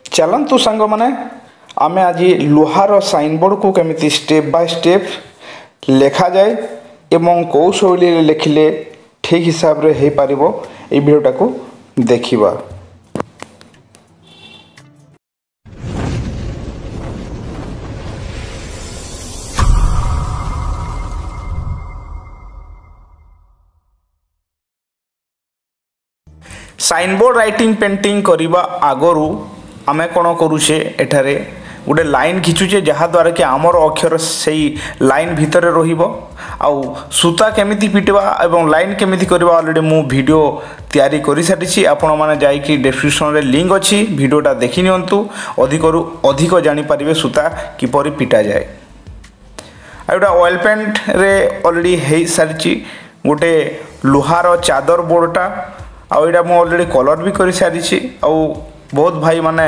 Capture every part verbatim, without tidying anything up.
ଚାଲନ୍ତୁ ସାଙ୍ଗମାନେ, ଆମେ ଆଜି ଲୁହାର ସାଇନବୋର୍ଡ଼କୁ କେମିତି ଷ୍ଟେପ୍ ବାଇ ଷ୍ଟେପ୍ ଲେଖାଯାଏ ଏବଂ କେଉଁ ଶୈଳୀରେ ଲେଖିଲେ ଠିକ୍ ହିସାବରେ ହେଇପାରିବ, ଏଇ ଭିଡ଼ିଓଟାକୁ ଦେଖିବା। ସାଇନବୋର୍ଡ଼ ରାଇଟିଂ ପେଣ୍ଟିଂ କରିବା ଆଗରୁ ଆମେ କ'ଣ କରୁଛେ, ଏଠାରେ ଗୋଟେ ଲାଇନ୍ ଖିଚୁଛେ, ଯାହାଦ୍ୱାରା କି ଆମର ଅକ୍ଷର ସେଇ ଲାଇନ୍ ଭିତରେ ରହିବ। ଆଉ ସୂତା କେମିତି ପିଟିବା ଏବଂ ଲାଇନ୍ କେମିତି କରିବା ଅଲରେଡ଼ି ମୁଁ ଭିଡ଼ିଓ ତିଆରି କରିସାରିଛି। ଆପଣମାନେ ଯାଇକି ଡେସ୍କ୍ରିପସନ୍ରେ ଲିଙ୍କ୍ ଅଛି, ଭିଡ଼ିଓଟା ଦେଖିନିଅନ୍ତୁ, ଅଧିକରୁ ଅଧିକ ଜାଣିପାରିବେ ସୂତା କିପରି ପିଟାଯାଏ। ଆଉ ଏଇଟା ଅଏଲ୍ ପେଣ୍ଟରେ ଅଲରେଡ଼ି ହେଇସାରିଛି ଗୋଟେ ଲୁହାର ଚାଦର ବୋର୍ଡ଼ଟା। ଆଉ ଏଇଟା ମୁଁ ଅଲରେଡ଼ି କଲର୍ ବି କରିସାରିଛି। ଆଉ ବହୁତ ଭାଇମାନେ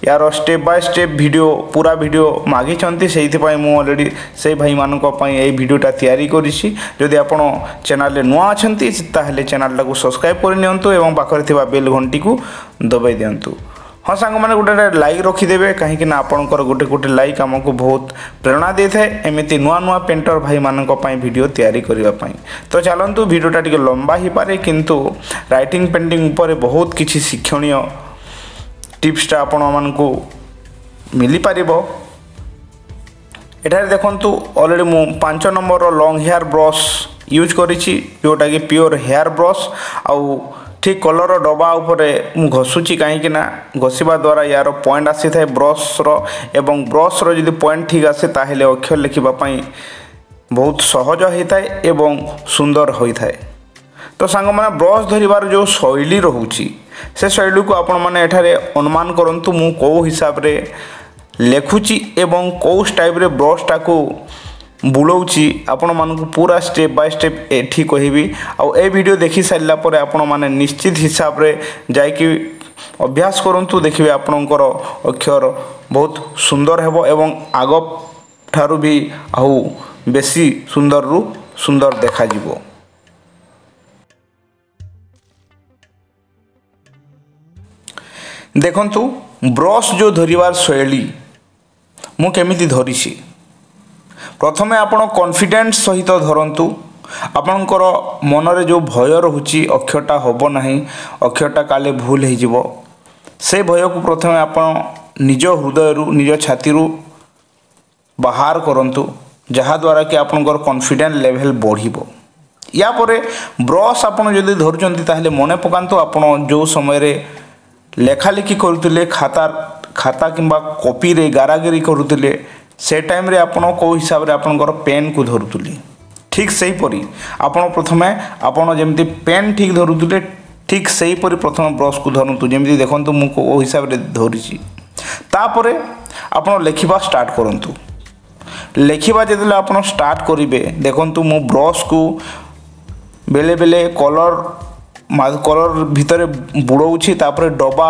ୟାର ଷ୍ଟେପ୍ ବାଇ ଷ୍ଟେପ୍ ଭିଡ଼ିଓ, ପୁରା ଭିଡ଼ିଓ ମାଗିଛନ୍ତି, ସେଇଥିପାଇଁ ମୁଁ ଅଲରେଡ଼ି ସେଇ ଭାଇମାନଙ୍କ ପାଇଁ ଏଇ ଭିଡ଼ିଓଟା ତିଆରି କରିଛି। ଯଦି ଆପଣ ଚ୍ୟାନେଲରେ ନୂଆ ଅଛନ୍ତି, ତାହେଲେ ଚ୍ୟାନେଲଟାକୁ ସବସ୍କ୍ରାଇବ୍ କରିନିଅନ୍ତୁ ଏବଂ ପାଖରେ ଥିବା ବେଲ୍ ଘଣ୍ଟିକୁ ଦବାଇ ଦିଅନ୍ତୁ। ହଁ ସାଙ୍ଗମାନେ, ଗୋଟେ ଗୋଟେ ଲାଇକ୍ ରଖିଦେବେ, କାହିଁକି ନା ଆପଣଙ୍କର ଗୋଟେ ଗୋଟେ ଲାଇକ୍ ଆମକୁ ବହୁତ ପ୍ରେରଣା ଦେଇଥାଏ ଏମିତି ନୂଆ ନୂଆ ପେଣ୍ଟର ଭାଇମାନଙ୍କ ପାଇଁ ଭିଡ଼ିଓ ତିଆରି କରିବା ପାଇଁ। ତ ଚାଲନ୍ତୁ, ଭିଡ଼ିଓଟା ଟିକେ ଲମ୍ବା ହେଇପାରେ, କିନ୍ତୁ ରାଇଟିଂ ପେଣ୍ଟିଂ ଉପରେ ବହୁତ କିଛି ଶିକ୍ଷଣୀୟ ଟିପ୍ସଟା ଆପଣମାନଙ୍କୁ ମିଳିପାରିବ। ଏଠାରେ ଦେଖନ୍ତୁ, ଅଲରେଡ଼ି ମୁଁ ପାଞ୍ଚ ନମ୍ବରର ଲଙ୍ଗ୍ ହେୟାର୍ ବ୍ରସ୍ ୟୁଜ୍ କରିଛି, ଯେଉଁଟାକି ପିଓର ହେୟାର୍ ବ୍ରସ୍। ଆଉ ଠିକ୍ କଲର୍ର ଡବା ଉପରେ ମୁଁ ଘଷୁଛି, କାହିଁକି ନା ଘଷିବା ଦ୍ୱାରା ୟାର ପଏଣ୍ଟ ଆସିଥାଏ ବ୍ରସ୍ର, ଏବଂ ବ୍ରସ୍ର ଯଦି ପଏଣ୍ଟ ଠିକ୍ ଆସେ ତାହେଲେ ଅକ୍ଷର ଲେଖିବା ପାଇଁ ବହୁତ ସହଜ ହୋଇଥାଏ ଏବଂ ସୁନ୍ଦର ହୋଇଥାଏ। ତ ସାଙ୍ଗମାନେ, ବ୍ରସ୍ ଧରିବାର ଯେଉଁ ଶୈଳୀ ରହୁଛି, ସେ ଶୈଳୀକୁ ଆପଣମାନେ ଏଠାରେ ଅନୁମାନ କରନ୍ତୁ ମୁଁ କେଉଁ ହିସାବରେ ଲେଖୁଛି ଏବଂ କେଉଁ ଷ୍ଟାଇଲ୍ରେ ବ୍ରସ୍ଟାକୁ ବୁଲଉଛି। ଆପଣମାନଙ୍କୁ ପୁରା ଷ୍ଟେପ୍ ବାଇ ଷ୍ଟେପ୍ ଏଠି କହିବି। ଆଉ ଏ ଭିଡ଼ିଓ ଦେଖି ସାରିଲା ପରେ ଆପଣମାନେ ନିଶ୍ଚିତ ହିସାବରେ ଯାଇକି ଅଭ୍ୟାସ କରନ୍ତୁ, ଦେଖିବେ ଆପଣଙ୍କର ଅକ୍ଷର ବହୁତ ସୁନ୍ଦର ହେବ ଏବଂ ଆଗ ଠାରୁ ବି ଆଉ ବେଶୀ ସୁନ୍ଦରରୁ ସୁନ୍ଦର ଦେଖାଯିବ। ଦେଖନ୍ତୁ, ବ୍ରସ୍ ଯେଉଁ ଧରିବାର ଶୈଳୀ ମୁଁ କେମିତି ଧରିଛି। ପ୍ରଥମେ ଆପଣ କନଫିଡେନ୍ସ ସହିତ ଧରନ୍ତୁ। ଆପଣଙ୍କର ମନରେ ଯେଉଁ ଭୟ ରହୁଛି, ଅକ୍ଷରଟା ହେବ ନାହିଁ, ଅକ୍ଷରଟା କାଲେ ଭୁଲ ହେଇଯିବ, ସେ ଭୟକୁ ପ୍ରଥମେ ଆପଣ ନିଜ ହୃଦୟରୁ, ନିଜ ଛାତିରୁ ବାହାର କରନ୍ତୁ, ଯାହାଦ୍ୱାରା କି ଆପଣଙ୍କର କନଫିଡେନ୍ସ ଲେଭେଲ୍ ବଢ଼ିବ। ୟା ପରେ ବ୍ରସ୍ ଆପଣ ଯଦି ଧରୁଛନ୍ତି, ତାହେଲେ ମନେ ପକାନ୍ତୁ ଆପଣ ଯେଉଁ ସମୟରେ ଲେଖାଲେଖି କରୁଥିଲେ, ଖାତା ଖାତା କିମ୍ବା କପିରେ ଗାରାଗିରି କରୁଥିଲେ, ସେ ଟାଇମ୍ରେ ଆପଣ କେଉଁ ହିସାବରେ ଆପଣଙ୍କର ପେନ୍କୁ ଧରୁଥିଲେ, ଠିକ୍ ସେହିପରି ଆପଣ ପ୍ରଥମେ ଆପଣ ଯେମିତି ପେନ୍ ଠିକ୍ ଧରୁଥିଲେ, ଠିକ୍ ସେହିପରି ପ୍ରଥମେ ବ୍ରସ୍କୁ ଧରନ୍ତୁ। ଯେମିତି ଦେଖନ୍ତୁ ମୁଁ କେଉଁ ହିସାବରେ ଧରିଛି। ତାପରେ ଆପଣ ଲେଖିବା ଷ୍ଟାର୍ଟ କରନ୍ତୁ। ଲେଖିବା ଯେତେବେଳେ ଆପଣ ଷ୍ଟାର୍ଟ କରିବେ, ଦେଖନ୍ତୁ ମୁଁ ବ୍ରସ୍କୁ ବେଳେ ବେଳେ କଲର୍ କଲର୍ ଭିତରେ ବୁଡ଼ଉଛି, ତାପରେ ଡବା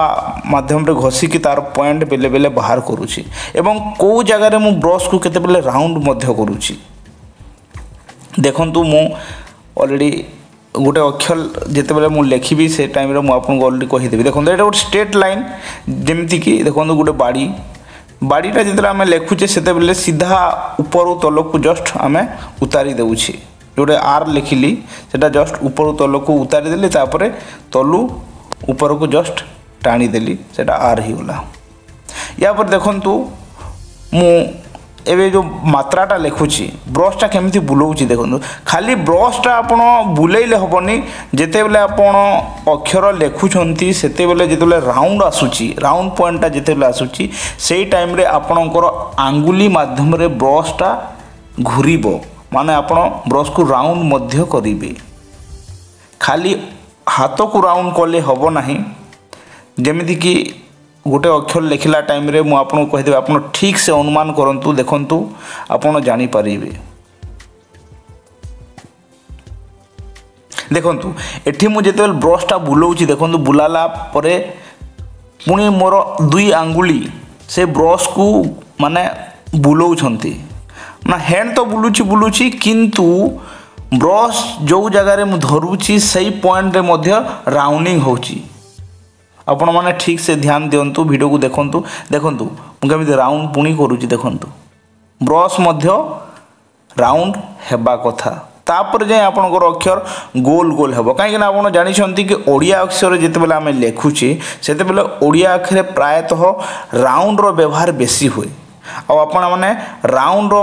ମାଧ୍ୟମରେ ଘଷିକି ତାର ପଏଣ୍ଟ ବେଲେ ବେଲେ ବାହାର କରୁଛି, ଏବଂ କେଉଁ ଜାଗାରେ ମୁଁ ବ୍ରସ୍କୁ କେତେବେଳେ ରାଉଣ୍ଡ ମଧ୍ୟ କରୁଛି। ଦେଖନ୍ତୁ, ମୁଁ ଅଲରେଡ଼ି ଗୋଟେ ଅକ୍ଷର ଯେତେବେଳେ ମୁଁ ଲେଖିବି, ସେ ଟାଇମ୍ରେ ମୁଁ ଆପଣଙ୍କୁ ଅଲରେଡ଼ି କହିଦେବି। ଦେଖନ୍ତୁ, ଏଇଟା ଗୋଟେ ଷ୍ଟ୍ରେଟ୍ ଲାଇନ୍। ଯେମିତିକି ଦେଖନ୍ତୁ, ଗୋଟେ ବାଡ଼ି, ବାଡ଼ିଟା ଯେତେବେଳେ ଆମେ ଲେଖୁଛେ, ସେତେବେଳେ ସିଧା ଉପରୁ ତଳକୁ ଜଷ୍ଟ ଆମେ ଉତାରି ଦେଉଛେ। ଯେଉଁଟା ଆର୍ ଲେଖିଲି, ସେଟା ଜଷ୍ଟ ଉପରୁ ତଳକୁ ଉତାରି ଦେଲି, ତାପରେ ତଲୁ ଉପରକୁ ଜଷ୍ଟ ଟାଣିଦେଲି, ସେଟା ଆର୍ ହେଇଗଲା। ୟା ପରେ ଦେଖନ୍ତୁ, ମୁଁ ଏବେ ଯେଉଁ ମାତ୍ରାଟା ଲେଖୁଛି, ବ୍ରସ୍ଟା କେମିତି ବୁଲଉଛି ଦେଖନ୍ତୁ। ଖାଲି ବ୍ରସ୍ଟା ଆପଣ ବୁଲେଇଲେ ହେବନି। ଯେତେବେଳେ ଆପଣ ଅକ୍ଷର ଲେଖୁଛନ୍ତି, ସେତେବେଳେ ଯେତେବେଳେ ରାଉଣ୍ଡ ଆସୁଛି, ରାଉଣ୍ଡ ପଏଣ୍ଟଟା ଯେତେବେଳେ ଆସୁଛି, ସେଇ ଟାଇମ୍ରେ ଆପଣଙ୍କର ଆଙ୍ଗୁଳି ମାଧ୍ୟମରେ ବ୍ରସ୍ଟା ଘୁରିବ, ମାନେ ଆପଣ ବ୍ରସ୍କୁ ରାଉଣ୍ଡ ମଧ୍ୟ କରିବେ। ଖାଲି ହାତକୁ ରାଉଣ୍ଡ କଲେ ହେବ ନାହିଁ। ଯେମିତିକି ଗୋଟେ ଅକ୍ଷର ଲେଖିଲା ଟାଇମ୍ରେ ମୁଁ ଆପଣଙ୍କୁ କହିଦେବି, ଆପଣ ଠିକ୍ ସେ ଅନୁମାନ କରନ୍ତୁ, ଦେଖନ୍ତୁ, ଆପଣ ଜାଣିପାରିବେ। ଦେଖନ୍ତୁ, ଏଠି ମୁଁ ଯେତେବେଳେ ବ୍ରସ୍ଟା ବୁଲଉଛି, ଦେଖନ୍ତୁ, ବୁଲାଲା ପରେ ପୁଣି ମୋର ଦୁଇ ଆଙ୍ଗୁଳି ସେ ବ୍ରସ୍କୁ ମାନେ ବୁଲଉଛନ୍ତି ନା, ହ୍ୟାଣ୍ଡ ତ ବୁଲୁଛି ବୁଲୁଛି, କିନ୍ତୁ ବ୍ରସ୍ ଯେଉଁ ଜାଗାରେ ମୁଁ ଧରୁଛି ସେଇ ପଏଣ୍ଟରେ ମଧ୍ୟ ରାଉଣ୍ଡିଂ ହେଉଛି। ଆପଣମାନେ ଠିକ୍ ସେ ଧ୍ୟାନ ଦିଅନ୍ତୁ, ଭିଡ଼ିଓକୁ ଦେଖନ୍ତୁ। ଦେଖନ୍ତୁ ମୁଁ କେମିତି ରାଉଣ୍ଡ ପୁଣି କରୁଛି। ଦେଖନ୍ତୁ, ବ୍ରସ୍ ମଧ୍ୟ ରାଉଣ୍ଡ ହେବା କଥା, ତାପରେ ଯାଇ ଆପଣଙ୍କର ଅକ୍ଷର ଗୋଲ ଗୋଲ ହେବ। କାହିଁକିନା ଆପଣ ଜାଣିଛନ୍ତି କି ଓଡ଼ିଆ ଅକ୍ଷର ଯେତେବେଳେ ଆମେ ଲେଖୁଛେ, ସେତେବେଳେ ଓଡ଼ିଆ ଅକ୍ଷରେ ପ୍ରାୟତଃ ରାଉଣ୍ଡର ବ୍ୟବହାର ବେଶୀ ହୁଏ। ଆଉ ଆପଣମାନେ ରାଉଣ୍ଡର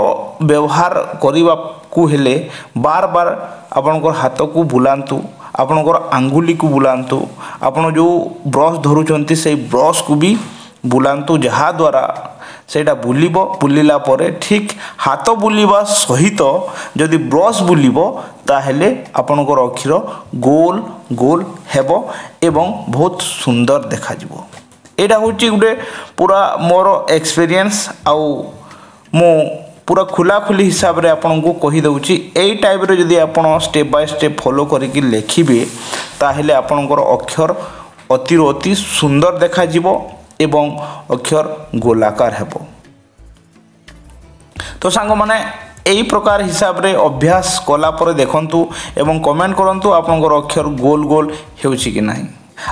ବ୍ୟବହାର କରିବାକୁ ହେଲେ ବାର ବାର ଆପଣଙ୍କର ହାତକୁ ବୁଲାନ୍ତୁ, ଆପଣଙ୍କର ଆଙ୍ଗୁଳିକୁ ବୁଲାନ୍ତୁ, ଆପଣ ଯେଉଁ ବ୍ରସ୍ ଧରୁଛନ୍ତି ସେଇ ବ୍ରସ୍କୁ ବି ବୁଲାନ୍ତୁ, ଯାହାଦ୍ୱାରା ସେଇଟା ବୁଲିବ। ବୁଲିଲା ପରେ ଠିକ୍ ହାତ ବୁଲିବା ସହିତ ଯଦି ବ୍ରସ୍ ବୁଲିବ, ତାହେଲେ ଆପଣଙ୍କର ଅକ୍ଷର ଗୋଲ ଗୋଲ ହେବ ଏବଂ ବହୁତ ସୁନ୍ଦର ଦେଖାଯିବ। ଏଇଟା ହେଉଛି ଗୋଟେ ପୁରା ମୋର ଏକ୍ସପିରିଏନ୍ସ, ଆଉ ମୁଁ ପୁରା ଖୋଲାଖୋଲି ହିସାବରେ ଆପଣଙ୍କୁ କହିଦେଉଛି। ଏଇ ଟାଇପ୍ରେ ଯଦି ଆପଣ ଷ୍ଟେପ୍ ବାଇ ଷ୍ଟେପ୍ ଫଲୋ କରିକି ଲେଖିବେ, ତାହେଲେ ଆପଣଙ୍କର ଅକ୍ଷର ଅତିରୁ ଅତି ସୁନ୍ଦର ଦେଖାଯିବ ଏବଂ ଅକ୍ଷର ଗୋଲାକାର ହେବ। ତ ସାଙ୍ଗମାନେ, ଏଇ ପ୍ରକାର ହିସାବରେ ଅଭ୍ୟାସ କଲା ପରେ ଦେଖନ୍ତୁ ଏବଂ କମେଣ୍ଟ କରନ୍ତୁ ଆପଣଙ୍କର ଅକ୍ଷର ଗୋଲ ଗୋଲ ହେଉଛି କି ନାହିଁ।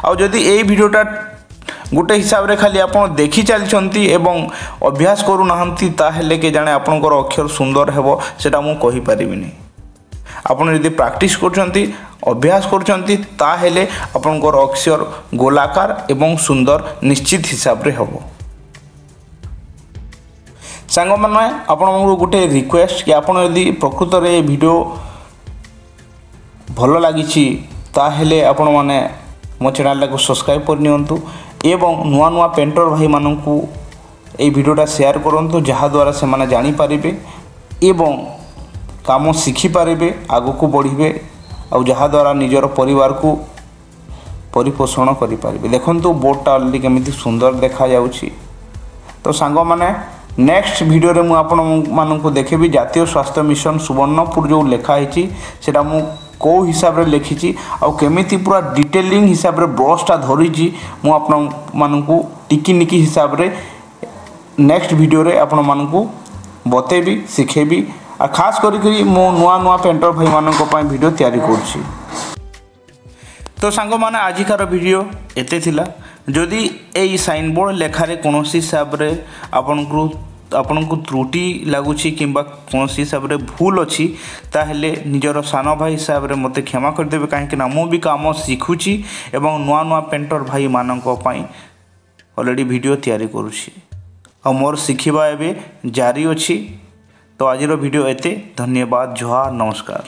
ଆଉ ଯଦି ଏଇ ଭିଡ଼ିଓଟା ଗୋଟେ ହିସାବରେ ଖାଲି ଆପଣ ଦେଖି ଚାଲିଛନ୍ତି ଏବଂ ଅଭ୍ୟାସ କରୁନାହାନ୍ତି, ତାହେଲେ କେ ଜାଣେ ଆପଣଙ୍କର ଅକ୍ଷର ସୁନ୍ଦର ହେବ, ସେଇଟା ମୁଁ କହିପାରିବିନି। ଆପଣ ଯଦି ପ୍ରାକ୍ଟିସ୍ କରୁଛନ୍ତି, ଅଭ୍ୟାସ କରୁଛନ୍ତି, ତାହେଲେ ଆପଣଙ୍କର ଅକ୍ଷର ଗୋଲାକାର ଏବଂ ସୁନ୍ଦର ନିଶ୍ଚିତ ହିସାବରେ ହେବ। ସାଙ୍ଗମାନେ, ଆପଣଙ୍କୁ ଗୋଟେ ରିକ୍ୱେଷ୍ଟ କି ଆପଣ ଯଦି ପ୍ରକୃତରେ ଏ ଭିଡ଼ିଓ ଭଲ ଲାଗିଛି, ତାହେଲେ ଆପଣମାନେ ମୋ ଚ୍ୟାନେଲଟାକୁ ସବସ୍କ୍ରାଇବ୍ କରିନିଅନ୍ତୁ ଏବଂ ନୂଆ ନୂଆ ପେଣ୍ଟର ଭାଇମାନଙ୍କୁ ଏଇ ଭିଡ଼ିଓଟା ସେୟାର କରନ୍ତୁ, ଯାହାଦ୍ୱାରା ସେମାନେ ଜାଣିପାରିବେ ଏବଂ କାମ ଶିଖିପାରିବେ, ଆଗକୁ ବଢ଼ିବେ, ଆଉ ଯାହାଦ୍ୱାରା ନିଜର ପରିବାରକୁ ପରିପୋଷଣ କରିପାରିବେ। ଦେଖନ୍ତୁ, ବୋର୍ଡ଼ଟା ଅଲରେଡ଼ି କେମିତି ସୁନ୍ଦର ଦେଖାଯାଉଛି। ତ ସାଙ୍ଗମାନେ, ନେକ୍ସଟ ଭିଡ଼ିଓରେ ମୁଁ ଆପଣମାନଙ୍କୁ ଦେଖେଇବି ଜାତୀୟ ସ୍ୱାସ୍ଥ୍ୟ ମିଶନ ସୁବର୍ଣ୍ଣପୁର ଯେଉଁ ଲେଖା ହେଇଛି, ସେଇଟା ମୁଁ କେଉଁ ହିସାବରେ ଲେଖିଛି ଆଉ କେମିତି ପୁରା ଡିଟେଲିଂ ହିସାବରେ ବ୍ରସ୍ଟା ଧରିଛି। ମୁଁ ଆପଣମାନଙ୍କୁ ଟିକିନିକି ହିସାବରେ ନେକ୍ସଟ ଭିଡ଼ିଓରେ ଆପଣମାନଙ୍କୁ ବତେଇବି, ଶିଖେଇବି। ଆଉ ଖାସ କରିକି ମୁଁ ନୂଆ ନୂଆ ପେଣ୍ଟର ଭାଇମାନଙ୍କ ପାଇଁ ଭିଡ଼ିଓ ତିଆରି କରୁଛି। ତ ସାଙ୍ଗମାନେ, ଆଜିକାର ଭିଡ଼ିଓ ଏତେ ଥିଲା। ଯଦି ଏଇ ସାଇନବୋର୍ଡ଼ ଲେଖାରେ କୌଣସି ହିସାବରେ ଆପଣଙ୍କୁ ଆପଣଙ୍କୁ ତ୍ରୁଟି ଲାଗୁଛି କିମ୍ବା କୌଣସି ହିସାବରେ ଭୁଲ ଅଛି, ତାହେଲେ ନିଜର ସାନ ଭାଇ ହିସାବରେ ମୋତେ କ୍ଷମା କରିଦେବେ, କାହିଁକିନା ମୁଁ ବି କାମ ଶିଖୁଛି ଏବଂ ନୂଆ ନୂଆ ପେଣ୍ଟର ଭାଇମାନଙ୍କ ପାଇଁ ଅଲରେଡ଼ି ଭିଡ଼ିଓ ତିଆରି କରୁଛି, ଆଉ ମୋର ଶିଖିବା ଏବେ ଜାରି ଅଛି। ତ ଆଜିର ଭିଡ଼ିଓ ଏତେ। ଧନ୍ୟବାଦ, ଜୁହାର, ନମସ୍କାର।